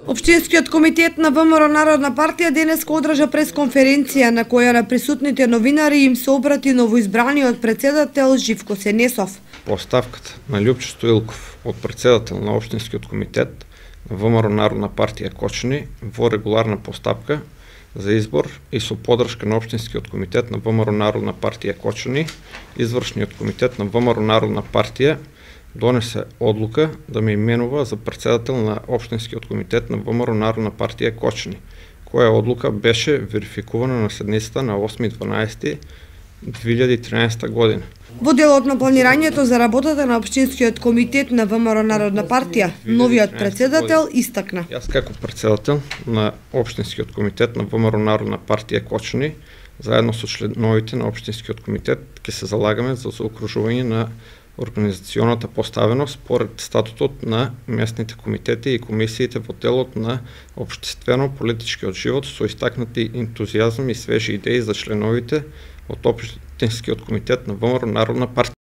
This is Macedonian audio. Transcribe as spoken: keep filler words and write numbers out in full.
Општинскиот комитет на ВМРО Народна партија денеска одржа пресконференција на која на присутните новинари им се обрати новоизбраниот председател Живко Сенесов. По оставката на Љупчо Стоилков од председател на Општинскиот комитет на ВМРО Народна партија Кочани во регуларна постапка за избор и со поддршка на Општинскиот комитет на ВМРО Народна партија Кочани, извршниот комитет на ВМРО Народна партија донесе одлука да ме именува за председател на Општинскиот комитет на ВМРО Народна партија Кочани, која одлука беше верификувана на седницата на осми дванаести две илјади и тринаесета година. Во делот на планирањето за работата на Општинскиот комитет на ВМРО Народна партија, новиот председател истакна: Јас како председател на Општинскиот комитет на ВМРО Народна партија Кочани, заедно со членовите на Општинскиот комитет, ќе се залагаме за заокружување на организационата поставеност според статутот на местните комитети и комисиите во делот на општествено-политичкиот живот со истакнати ентузијазам и свежи идеи за членовите од Општинскиот комитет на ВМРО Народна партија.